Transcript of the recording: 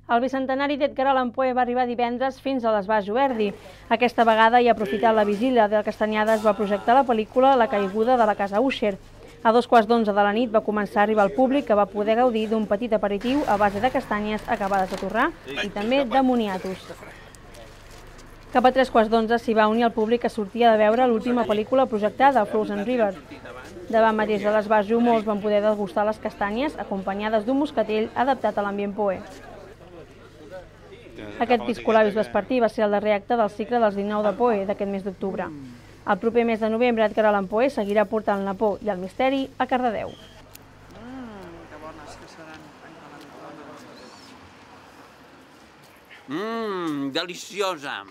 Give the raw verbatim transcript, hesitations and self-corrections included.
El bicentenari d'Edgar Allan Poe va arribar divendres fins a l'Esbarjo Verdi. Aquesta vegada, i aprofitant la vigília de Castanyada, es va projectar la pel·lícula La caiguda de la casa Usher. A dos quarts d'onze de la nit va començar a arribar el públic, que va poder gaudir d'un petit aperitiu a base de castanyes acabades de torrar i també de moniatos. Cap a tres quarts d'onze s'hi va unir el públic que sortia de veure l'última pel·lícula projectada, Frozen River. Davant mateix de l'Esbarjo, molts van poder degustar les castanyes acompanyades d'un moscatell adaptat a l'ambient Poe. Aquest piscolabis vespertí va ser el darrer acte del cicle dels dinou de Poe d'aquest mes d'octubre. El proper mes de novembre, Edgar Allan Poe seguirà portant la por i el misteri a Cardedeu. Mmm, deliciosa!